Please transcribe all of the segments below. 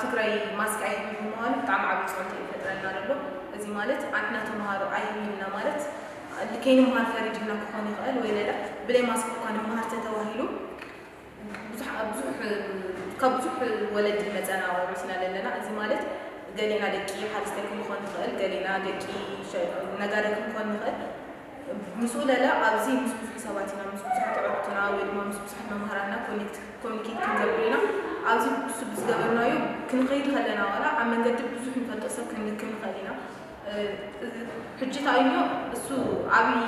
ትግራይ ማስክ ኣይህብን ብምባሉ ብጣዕሚ ዓብዪ ፅዕንቶ እዩ ፈጥረልና ዘሎ። እዚ ማለት ኣንሕና ተምሃሮ ኣይህብን ኢልና ማለት ከይንምሃር ፈሪድና ክኾን ይኽእል፣ ወይ ለለ ብለይ ማስክ እኳ ንመሃር ተተባሂሉ ብዙሕ ብዙሕ ካብ ብዙሕ ወለዲ መፀና ወሪስና ዘለና። እዚ ማለት ገሌና ደቂ ሓረስታይ ክንኾን ንኽእል፣ ገሌና ደቂ ሸ- ነጋዳይ ክንኾን ንኽእል። ምስኡ ለለ ኣብዚ ምስ ብዙሕ ሰባት ኢና፣ ምስ ብዙሓት ኣዕሩኽትና ወይ ድማ ምስ ብዙሓት መምሃራንና ኮኔክት ኮሚኒኬት ክንገብር ኢና። ኣብዚ እሱ ብዝገበርናዮ ክንኸይድ ከለና ዋላ ኣብ መንገዲ ብዙሕ ንፈልጦ ሰብ ክንልክም ንኽእል ኢና። ሕጂ ታይኖ እሱ ዓብዪ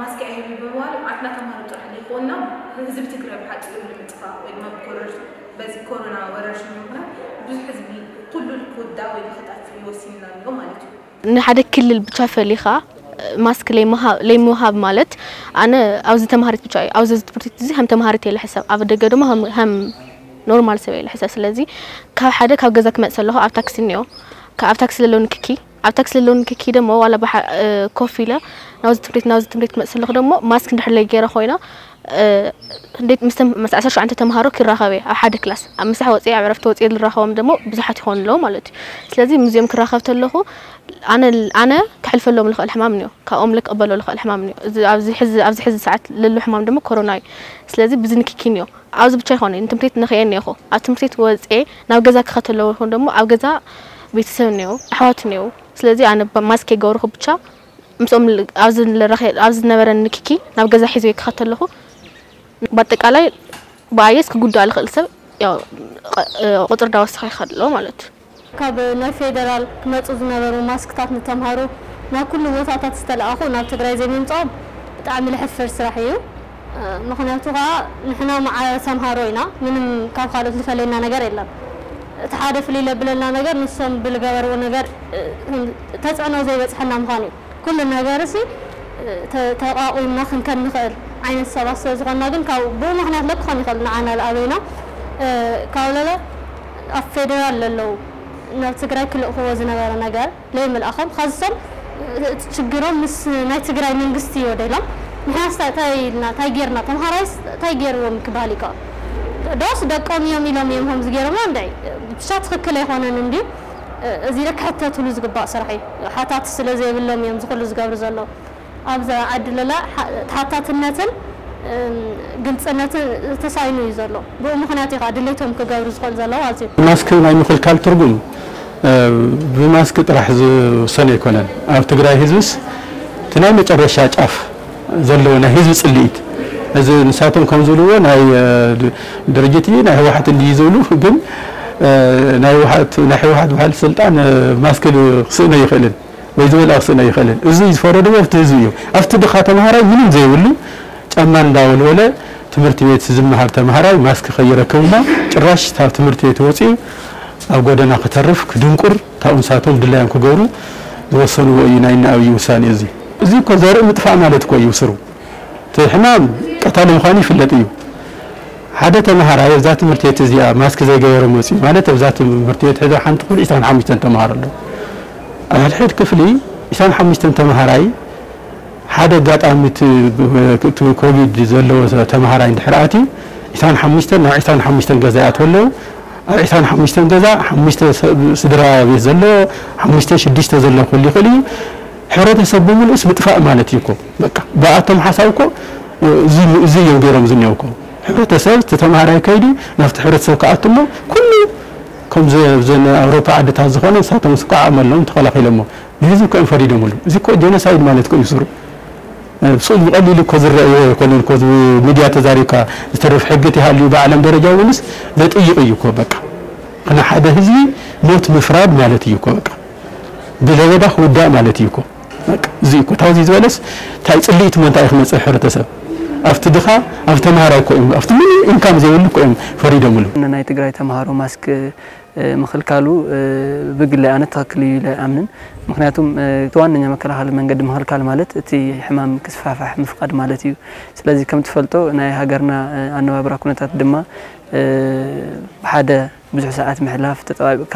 ማስክ ኣይህብ ብምባል ኣትና ተምሃሮ ጥራሕ ዘይኮንና ህዝቢ ትግራይ ብሓፂሩ ንምጥፋእ ወይ ድማ ብኮረሽ በዚ ኮሮና ወረርሽኝ ምክንያት ብዙሕ ህዝቢ ኩሉ ክውዳእ ወይ ንክጠፍእ ይወሲንና ኣሎ ማለት እዩ። ንሓደ ክልል ብቻ ፈሊኻ ማስክ ለይምሃብ ማለት ኣነ ኣብዚ ተምሃሪት ብቻ እዩ ኣብዚ ትምህርቲ እዚ ከም ተምሃሪት የለ ሕሰብ ኣብ ደገ ድማ ከም ኖርማል ሰብ የለ ሕሰብ ስለዚ ካብ ሓደ ካብ ገዛ ክመፅእ ኣለኹ ኣብ ታክሲ እኒኦ ኣብ ታክሲ ዘለዉ ንክኪ ኣብ ታክሲ ዘለዉ ንክኪ ደሞ ዋላ ኮፍ ኢለ ናብዚ ትምህሪት ናብዚ ትምህሪት ክመፅእ ኣለኹ ደሞ ማስክ እንድሕር ለይ ገይረ ኮይና እንዴት ምስ ዓሰርተ ሸውዓተ ተምሃሮ ክራኸብ እየ ኣብ ሓደ ክላስ ኣብ ምሳሕ ወፅየ ኣብ ዕረፍቲ ወፅየ ዝራኸቦም ደሞ ብዙሓት ይኾኑ ኣለዉ ማለት እዩ ስለዚ ምስዚኦም ክራኸብ ተለኹ ኣነ ኣነ ክሕልፈሎም ልኽእል ሕማም እኒኦ ካብኦም ልክቕበሎ ልኽእል ሕማም እኒኦ ኣብዚ ሕዚ ሰዓት ለሎ ሕማም ደሞ ኮሮና እዩ ስለዚ ብዚ ንክኪ እኒኦ ኣብዚ ብቻ ይኾነ ንትምህርት ንኽየ እኒኹ ኣብ ትምህርት ወፅየ ናብ ገዛ ክኸተለዎ ይኹን ደሞ ኣብ ገዛ ቤተሰብ እኒኦ ኣሕዋት እኒኦ ስለዚ ኣነ ማስክ የገብርኹ ብቻ ምስኦም ኣብዚ ዝነበረ ንክኪ ናብ ገዛ ሒዘ ክኸተለኹ ብኣጠቃላይ ብኣየስ ክጉዳእ ልኽእል ሰብ ቁፅር ዳወሰኸ ይኸድሎ ማለት እዩ ካብ ናይ ፌደራል ክመፁ ዝነበሩ ማስክታት ንተምሃሮ ናብ ኩሉ ቦታታት ዝተለኣኹ ናብ ትግራይ ዘይምምፅኦም ብጣዕሚ ልሕፍር ስራሕ እዩ። ምኽንያቱ ከዓ ንሕና መዓረ ተምሃሮ ኢና፣ ምንም ካብ ካልኦት ዝፈለየና ነገር የለን። እቲ ሓደ ፍልይ ለብለና ነገር ንሶም ብልገበርዎ ነገር ተፅዕኖ ዘይበፅሐና ምዃን እዩ። ኩሉ ነገር ሲ ተቋቒምና ክንከድ ንኽእል ዓይነት ሰባት ስለ ዝኾንና ግን ካብ ብኡ ምኽንያት ለክኾን ይኽእል ንዓና ዝኣበይና ካብ ለለ ኣብ ፌደራል ለለዉ ናብ ትግራይ ክልእኽዎ ዝነበረ ነገር ለይምልኣኾም ኻዚ ሶም እቲ ችግሮም ምስ ናይ ትግራይ መንግስቲ እዮ ደሎም ንሕናስ ታይ ኢልና ታይ ጌርና ተምሃራይስ ታይ ጌርዎም ክበሃል ይከ ዶስ ደቆም እዮም ኢሎም እዮም ከምዚ ጌሮምና እንድዒ ብቻ ትኽክል ኣይኾነን እንድዩ እዚ ክሕተትሉ ዝግባእ ስራሕ እዩ ሓታት ስለ ዘይብሎም እዮም ዝኽሉ ዝገብሩ ዘለዉ ኣብዛ ዓዲ ለላ ተሓታትነትን ግልፅነትን ተሳኢኑ እዩ ዘሎ። ብኡ ምኽንያት እዩ ከዓ ድሌቶም ክገብሩ ዝኽእሉ ዘለዉ ማለት እዩ። ማስክ ናይ ምኽልካል ትርጉም ብማስክ ጥራሕ ዝውሰን ኣይኮነን። ኣብ ትግራይ ህዝብስ እቲ ናይ መጨረሻ ጫፍ ዘለዎ ናይ ህዝቢ ፅልኢት እዚ ንሳቶም ከም ዝብልዎ ናይ ድርጅት እዩ ናይ ህወሓት እንድዩ ዝብሉ ግን ናይ ህወሓት በዓል ስልጣን ማስክ ክስእኖ ኣይኽእልን። ወይ ዝበልኣ ክስእን ኣይኽእልን። እዚ ዝፈረድዎ ኣብቲ ህዝቢ እዩ። ኣብቲ ድኻ ተምሃራይ ምንም ዘይብሉ ጫማ እንዳወልወለ ትምህርቲ ቤት ዝመሃር ተምሃራይ ማስክ ከይረክብ እሞ ጭራሽ ካብ ትምህርቲ ቤት ወፂኡ ኣብ ጎደና ክተርፍ ክድንቁር ካብኡ ንሳቶም ድላዮም ክገብሩ ዝወሰንዎ እዩ ናይ እነ ኣብይ ውሳኔ እዚ። እዚ እኮ ዘርኢ ምጥፋእ ማለት እኮ እዩ ስሩ። እቲ ሕማም ቀታሊ ምዃኑ ይፍለጥ እዩ። ሓደ ተምሃራይ ኣብዛ ትምህርቲ ቤት እዚኣ ማስክ ዘይገበረ መፂኡ ማለት ኣብዛ ትምህርቲ ቤት ሕዚ ሓንቲ ክፍሊ ዒስራን ሓሙሽተን ተምሃሮ ኣለዉ። ኣብ ሕድሕድ ክፍሊ ዒስራን ሓሙሽተን ተምሃራይ ሓደ ኣጋጣሚ እቲ ኮቪድ ዘለዎ ተምሃራይ እንድሕር ኣትዩ ዒስራን ሓሙሽተን ናብ ዒስራን ሓሙሽተን ገዛ ይኣትዉ ኣለዉ። ኣብ ዒስራን ሓሙሽተን ገዛ ሓሙሽተ ስድራ ቤት ዘለዎ ሓሙሽተ ሽዱሽተ ዘሎ ክህሉ ይኽእል እዩ። ሕብረተሰብ ብምሉእስ ምጥፋእ ማለት እዩ እኮ በቃ ብኣቶም ሓሳብ እኮ እዚ እዮም ገይሮም ዝኒሀው እኮ ሕብረተሰብ እቲ ተምሃራይ ከይዱ ናብቲ ሕብረተሰብ ክኣቱ እሞ ኩሉ ከምዚ ኣብዘን ኣውሮፓ ዓድታት ዝኾነ ንሳቶም ስኳ ዓቕሚ ኣለዎም ተኸላኺሎሞ ንህዝቢ እኮ እዮም ፈሪዶምሉ እዚ እኮ ጀኖሳይድ ማለት እኮ እዩ ስሩ ብስኡ ብቐሊሉ እኮ ዝረኣይዎ ኣይኮነን እኮ ሚድያ ተዛሪብካ ዝተርፍ ሕጊ ተሃልዩ ብዓለም ደረጃ እውንስ ዘጥይቕ እዩ እኮ በቃ ንሓደ ህዝቢ ሞት ምፍራድ ማለት እዩ እኮ በቃ ብለበዳ ክውዳእ ማለት እዩ እኮ በቃ እዚ እኮ ታውዚ ዝበለስ ታይ ፅልኢት እሞ እንታይ ክመፅእ ሕብረተሰብ ኣብቲ ድኻ ኣብ ተምሃራይ እኮ እዮም ኣብቲ ምንም ኢንካም ዘይብሉ እኮ እዮም ፈሪዶምሉ ናይ ትግራይ ተምሃሮ ማስክ ምኽልካሉ ብግለይ ኣነ ትኽክል እዩ ኢለ ኣይኣምንን። ምክንያቱም እቲ ዋነኛ መከላኸሊ መንገዲ ምኽልካል ማለት እቲ ሕማም ክስፋሕፋሕ ምፍቃድ ማለት እዩ። ስለዚ ከም ትፈልጦ ናይ ሃገርና ኣነባብራ ኩነታት ድማ ብሓደ ብዙሕ ሰዓት ምሕላፍ፣ ተጠባቢቕካ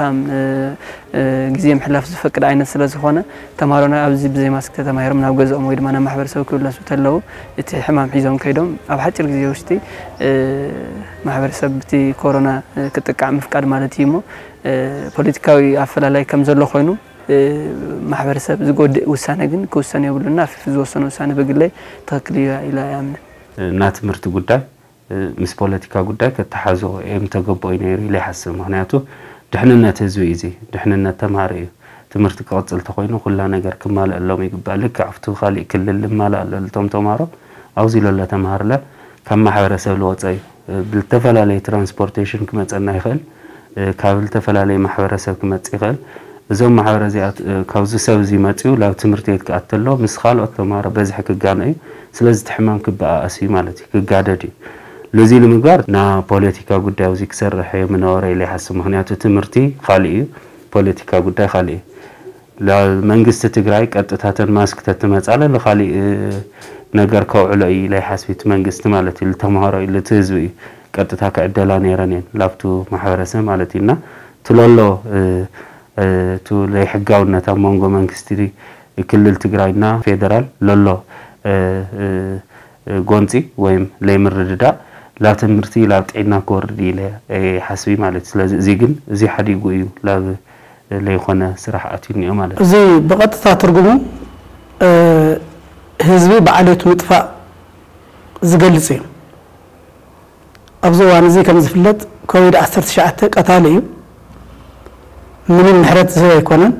ግዜ ምሕላፍ ዝፈቅድ ዓይነት ስለ ዝኾነ፣ ተምሃሮና ኣብዚ ብዘይ ማስክ ተተማሂሮም ናብ ገዝኦም ወይ ድማ ናብ ማሕበረሰብ ክምለሱ ተለዉ እቲ ሕማም ሒዞም ከይዶም ኣብ ሓፂር ግዜ ውሽጢ ማሕበረሰብ ብቲ ኮሮና ክጥቃዕ ምፍቃድ ማለት እዩ። እሞ ፖለቲካዊ ኣፈላላይ ከም ዘሎ ኮይኑ ማሕበረሰብ ዝጎድእ ውሳነ ግን ክውሰን የብሉና። ፊፊ ዝወሰነ ውሳነ ብግለይ ትኽክል እዩ ኢለ ኣይኣምንን። እና ትምህርቲ ጉዳይ ምስ ፖለቲካ ጉዳይ ከተሓዞ የምተገበኦ እዩ ነይሩ ኢለ ይሓስብ። ምክንያቱ ድሕንነት ህዝቢ እዩ፣ እዚ ድሕንነት ተምሃሮ እዩ። ትምህርቲ ክቕፅል ተኮይኑ ኩላ ነገር ክማልአሎም ይግባእ። ልክዕ ኣብቲ ካሊእ ክልል ዝማልኣሎም ተምሃሮ ኣብዚ ለሎ ተምሃርለ ካብ ማሕበረሰብ ዝወፀ እዩ። ብዝተፈላለየ ትራንስፖርቴሽን ክመፀና ይኽእል፣ ካብ ዝተፈላለየ ማሕበረሰብ ክመፅእ ይኽእል። እዞም ማሕበረ እዚኣት ካብዚ ሰብ እዚ መፅኡ ናብ ትምህርቲ ቤት ክኣተሎ ምስ ካልኦት ተምሃሮ በዝሒ ክጋኖ እዩ። ስለዚ እቲ ሕማም ክበኣኣስ እዩ ማለት እዩ፣ ክጋደድ እዩ። ለዚ ንምግባር ና ፖለቲካ ጉዳይ ኣብዚ ክሰርሕ እየ ምነበረ ኢለ ይሓስብ። ምክንያቱ ትምህርቲ ካሊእ እዩ፣ ፖለቲካ ጉዳይ ካሊእ እዩ። መንግስቲ ትግራይ ቀጥታ ተን ማስክ ተትመፃለ ንካሊእ ነገር ከውዕሎ እዩ ኢለ ይሓስብ። እቲ መንግስቲ ማለት እዩ፣ ተምሃሮ እዩ፣ እቲ ህዝቢ እዩ ቀጥታ ክዕደላ ነይረን እየን ላብቱ ማሕበረሰብ ማለት እዩ። እና ትለሎ እቱ ዘይሕጋውነት ኣብ መንጎ መንግስቲ ክልል ትግራይና ፌደራል ለሎ ጎንፂ ወይም ለይምርድዳእ ላብ ትምህርቲ ላብ ጥዕና ክወርድ ኢለ ሓስቢ ማለት እዩ። ስለዚ እዚ ግን እዚ ሓዲጉ እዩ ላብ ለይኮነ ስራሕ ኣትዩ እኒኦ ማለት እዩ። እዚ ብቐጥታ ትርጉሙ ህዝቢ ብዓሌቱ ምጥፋእ ዝገልፅ እዩ። ኣብዚ እዋን እዚ ከም ዝፍለጥ ኮቪድ ዓሰርተ ትሽዓተ ቀታሊ እዩ። ምንም ምሕረት ዝህብ ኣይኮነን።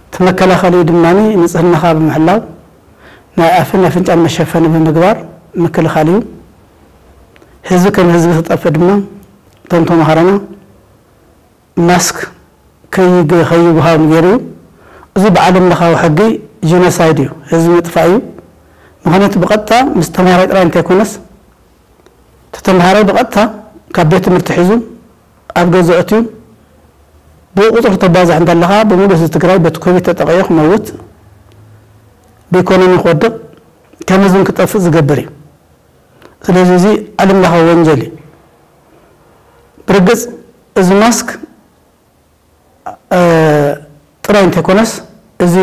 እቲ መከላኸሊኡ ድማ ንፅህናኻ ብምሕላው ናይ ኣፍን ኣፍንጫን መሸፈኒ ብምግባር ምክልኻል እዩ። ህዝቢ ከም ህዝቢ ክጠፍእ ድማ እቶም ተምሃሮና ማስክ ከይብሃም ገይሩ እዩ። እዚ ብዓለም ለኻዊ ሕጊ ጂኖሳይድ እዩ፣ ህዝቢ ምጥፋእ እዩ። ምኽንያቱ ብቐጥታ ምስ ተምሃራይ ጥራይ እንተይኮነስ እቲ ተምሃራይ ብቐጥታ ካብ ቤት ትምህርቲ ሒዙ ኣብ ገዝኡ ኣትዩ ብቁፅሪ ተባዝሕ እንተለኻ ብምሉእ ህዝቢ ትግራይ በቲ ኮቪድ ተጠቒዑ ክመውት ብኢኮኖሚ ክወድቕ ከም ህዝብን ክጠፍእ ዝገብር እዩ። ስለዚ እዚ ዓለም ለኻዊ ወንጀል እዩ። ብርግፅ እዚ ማስክ ጥራይ እንተይኮነስ እዚ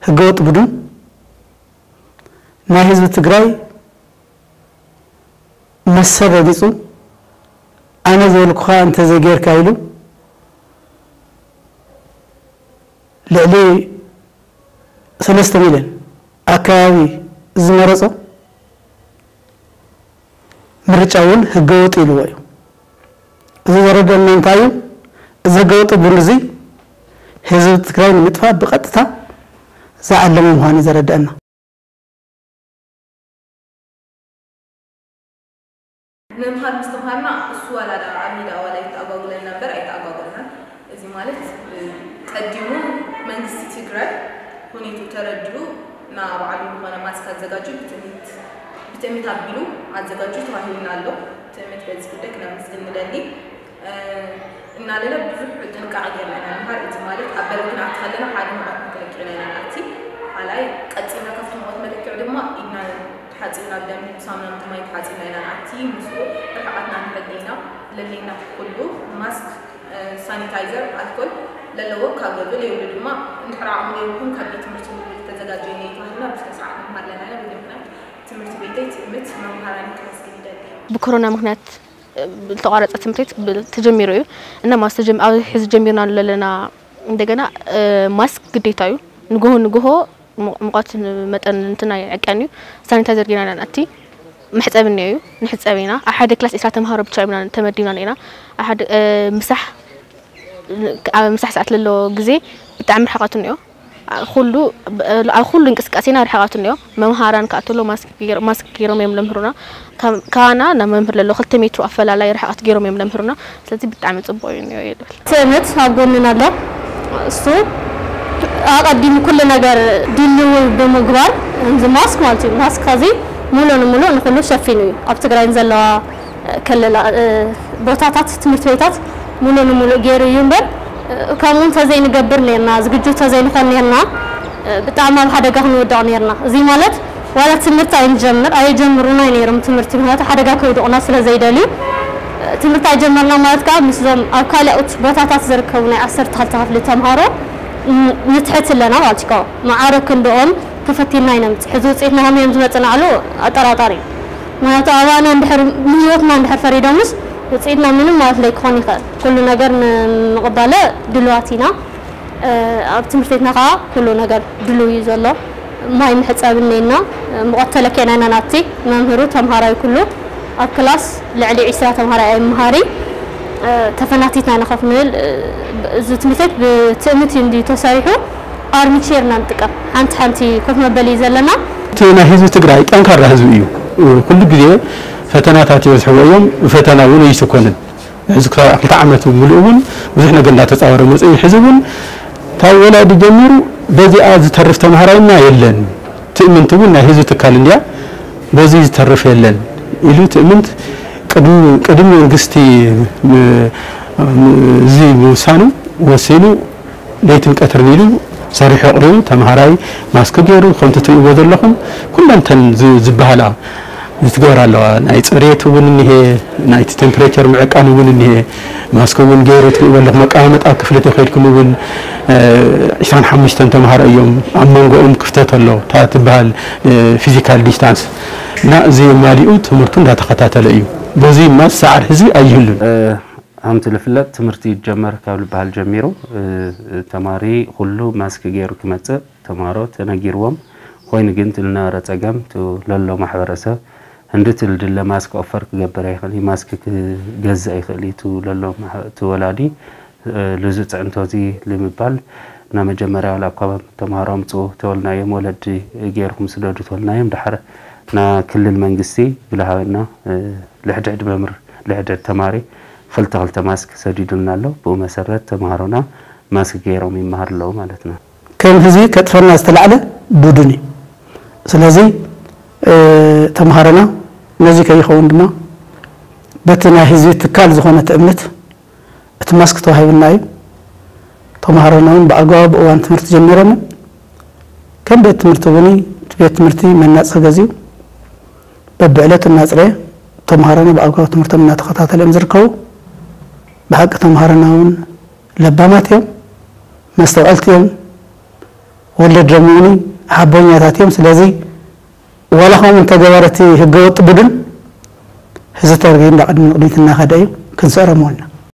ህገወጥ ቡድን ናይ ህዝቢ ትግራይ መሰል ረጊፁ ኣነ ዝበልኩኻ እንተዘይጌርካ ኢሉ ልዕሊ ሰለስተ ሚልዮን ኣከባቢ ዝመረፆ ምርጫ እውን ህገወጥ ኢልዎ እዩ። እዚ ዘረደአና እንታይ እዩ? እዚ ህገወጥ ቡድን እዚ ህዝቢ ትግራይ ንምጥፋእ ብቐጥታ ዝዓለመ ምዃኑ እዩ ዘረደአና። ምምሃር ምስትምሃርና እሱ ዋላ ደኣ ኣብ ሜዳ ዋላ ይተኣጓጉለና እምበር ኣይተኣጓጎልናን። እዚ ማለት ቀዲሙ መንግስቲ ትግራይ ሁኔትኡ ተረዲኡ ንባዕሉ ዝኾነ ማስክ ኣዘጋጅዩ ብትእምት ብትእምት ኣቢሉ ኣዘጋጅዩ ተዋሂቡና ኣሎ። ትእምት በዚ ጉዳይ ክነመስግን ንደሊ። እናለለ ብዙሕ ጥንቃቐ ጌርና ኢና ንምሃር። እዚ ማለት ኣብ በረድ ክንኣቲ ከለና ሓደ ሙቐት መለክዒ ኢና ንኣቲ። ካልኣይ ቀጺልና ካብቲ ሙቐት መለክዒ ድማ ኢድና ተሓጺብና ብደንቢ ብሳሙና ብማይ ተሓጺብና ኢና ንኣቲ። ምስኡ ርሕቐትና ንሕሊ ኢና። ለለይና ኩሉ ማስክ፣ ሳኒታይዘር፣ ኣልኮል ለለዎ ካብ ገዝኡ ለይብሉ ድማ እንድሕር ዓቕሚ ለይብልኩም ካብ ቤት ትምህርቲ ንውልድ ተዘጋጀዩ ነይሩ ተባሂልና ብስነ ስርዓት ንመሃር ኣለና ኢና። በዚ ምኽንያት ትምህርቲ ቤተይ ትእምት መምሃራኒ ከመስግን ይደሊ። ብኮሮና ምኽንያት ዝተቋረፀ ትምህርት ቤት ተጀሚሩ እዩ እና ማስ ኣብ ሕዚ ጀሚርና ዘለና እንደገና ማስክ ግዴታ እዩ። ንግሆ ንግሆ ሙቐት መጠን እንትና ይዕቀን እዩ። ሳኒታይዘር ጌና ኢና ንኣቲ። መሕፀቢ እኒኦ እዩ። ንሕፀብ ኢና። ኣብ ሓደ ክላስ ዒስራ ተምሃሮ ብቻ ኢና ተመዲብና ነና። ምሳሕ ኣብ ምሳሕ ሰዓት ለሎ ግዜ ብጣዕሚ ርሕቐት እኒኦ። ኩሉ ኣብ ኩሉ እንቅስቃሴና ርሕቐት እኒኦ። መምሃራን ክኣትሎ ማስክ ገይሮም እዮም ለምህሩና። ካባና ናብ መምህር ለሎ ክልተ ሜትሮ ኣፈላላይ ርሕቐት ገይሮም እዮም ለምህሩና። ስለዚ ብጣዕሚ ፅቡቕ እዩ እኒኦ እየ ዝብል። ትእምት ኣብ ጎንና ኣሎ። እሱ ኣቐዲሙ ኩሉ ነገር ድልው ብምግባር እዚ ማስክ ማለት እዩ። ማስክ ከዚ ሙሉ ንሙሉ ንኩሉ ሸፊኑ እዩ። ኣብ ትግራይን ዘለዋ ክልል ቦታታት ትምህርቲ ቤታት ሙሉ ንሙሉ ገይሩ እዩ እምበር ከምኡ እንተዘይንገብር ነርና፣ ዝግጁ እንተዘይንኾን ነርና፣ ብጣዕሚ ኣብ ሓደጋ ክንወድቕ ነርና። እዚ ማለት ዋላ ትምህርቲ ኣይንጀምር፣ ኣየጀምሩና ነይሮም ትምህርቲ፣ ምኽንያቱ ሓደጋ ከውድቑና ስለ ዘይደልዩ። ትምህርቲ ኣይጀመርና ማለት ከዓ ምስዞም ኣብ ካልኦት ቦታታት ዝርከቡ ናይ ዓሰርተ ክልተ ክፍሊ ተምሃሮ ን-፣ ንትሕት ኣለና ማለት እዩ። ማዕረ ክንድኦም ተፈቲንና ኢና ንመጽእ። ሕዚ ውፅኢትና ከመይ እዮም ዝመጽእ ንዓሉ ኣጠራጣሪ እዩ። ምኽንያቱ ኣባና እንድሕር ንህይወትና እንድሕር ፈሪዶምስ ውፅኢትና ምንም ማለት ለይክኾን ይኽእል። ኩሉ ነገር ንምቕባለ ድልዋት ኢና። ኣብ ትምህርቲ ቤትና ከዓ ኩሉ ነገር ድሉው እዩ ዘሎ። ማይ መሕፀቢ እኒኤና፣ ሙቐት ተለኪዕና ኢና ናብቲ መምህሩ ተምሃራይ ኩሉ ኣብ ክላስ ልዕሊ ዒስራ ተምሃራይ ኣይመሃሪ። ተፈናቲትና ኢና ኮፍ ንብል። እዚ ትምህርቲ ቤት ብትእምት እዩ እንድዩ ተሰሪሑ። ኣርሚቼር ኢና ንጥቀም። ሓንቲ ሓንቲ ኮፍ መበሊ እዩ ዘለና። እቲ ናይ ህዝቢ ትግራይ ጠንካራ ህዝቢ እዩ። ኩሉ ግዜ ፈተናታት ይበዝሕዎ እዮም። ፈተና እውን ኣይስኮንን። ሕዚ ክልተ ዓመት ሙሉእ እውን ብዙሕ ነገር እንዳተፃወረ መፅኡ። ሕዚ እውን ካብ ወላዲ ጀሚሩ በዚኣ ዝተርፍ ተምሃራይና የለን። ትእምንት እውን ናይ ህዝቢ ትካል እንድያ፣ በዚ ዝተርፍ የለን ኢሉ ትእምንት ቅድሚ፣ ቅድሚ መንግስቲ ም-፣ ም-፣ እዚ ምውሳኑ ወሲኑ ለይትን ቀትርን ኢሉ ሰሪሑ ኣቕሪቡ፣ ተምሃራይ ማስክ ገይሩ፣ ከምቲ ትርእይዎ ዘለኹም ኩለን እተን ዝ-፣ ዝበሃላ ዝትግበር ኣለዋ። ናይ ፅሬት እውን እኒሄ፣ ናይቲ ቴምፕሬቸር ምዕቃን እውን እኒሄ። ማስክ እውን ገይሩ ትርእይዎ ኣለኹም፣ መቀማመጣ ክፍሊ ተኸይድኩም እውን፣ እ፣ ዒስራን ሓሙሽተን ተምሃሮ እዮም፣ ኣብ መንጎኦም ክፍተት ኣሎ፣ እታ ትበሃል፣ እ፣ ፊዚካል ዲስታንስ። እና እዚ የማሊኡ ትምህርቱ እንዳተኸታተለ እዩ። በዚ ማስ ሰዓር ህዝቢ ኣይህሉን። እ፣ ከምቲ ዝፍለጥ ትምህርቲ ይጀመር ካብ ዝበሃል ጀሚሩ፣ እ፣ ተማሪ ኩሉ ማስክ ገይሩ ክመጽእ ተምሃሮ ተነጊርዎም። ኮይኑ ግን እቲ ዝነበረ ጸገም፣ እቲ ለሎ ማሕበረሰብ፣ እንድቲ ዝድለ ማስክ ኦፈር ክገብር ኣይኽእል እዩ፣ ማስክ ክገዝእ ኣይኽእል እዩ፣ እቲ ለሎ ማሕ-፣ እቲ ወላዲ፣ እ፣ ልዙ ጽዕንቶ እዚ ንምባል፣ እና መጀመርያ ዋላ እኳ ተምሃሮ ኣምጽኡ ተበልናዮም፣ ወለዲ ገይርኩም ስደዱ ተበልናዮም፣ ድሓር እና ክልል መንግስቲ ብልሃበና፣ እ፣ ልሕድሕድ መምህር፣ ልሕድሕድ ተማሪ ክልተ ክልተ ማስክ ሰዲዱልና ኣሎ። ብኡ መሰረት ተምሃሮና ማስክ ገይሮም ይመሃሩ ኣለዉ ማለት ነው። ከም ህዝቢ ከጥፈና ዝተላዕለ ቡድን እዩ። ስለዚ፣ እ፣ ተምሃሮና ነዚ ከይኸውን ድማ በቲ ናይ ህዝቢ ትካል ዝኾነ ትእምት እቲ ማስክ ተዋሂቡና እዩ። ተምሃሮና እውን ብኣግባቡ ብእዋን ትምህርቲ ጀሚሮምን ከም ቤት ትምህርቲ እውን እቲ ቤት ትምህርቲ መናጽሂ ገዚኡ በብዕለቱ እናጽረየ ተምሃሮና ብኣግባቡ ትምህርቶም እናተኸታተለ እዮም ዝርከቡ። ብሓቂ ተምሃሮና እውን ለባማት እዮም፣ መስተውዐልቲ እዮም። ወለዶም እውን ሓቦኛታት እዮም። ስለዚ ዋላ ከምኡ እንተገበረ እቲ ህገወጥ ቡድን ህዝቢ ተርጊ እንዳ ቅድሚ ንቕድሚት እናኸደ እዩ፣ ክንስዕሮም ወልና።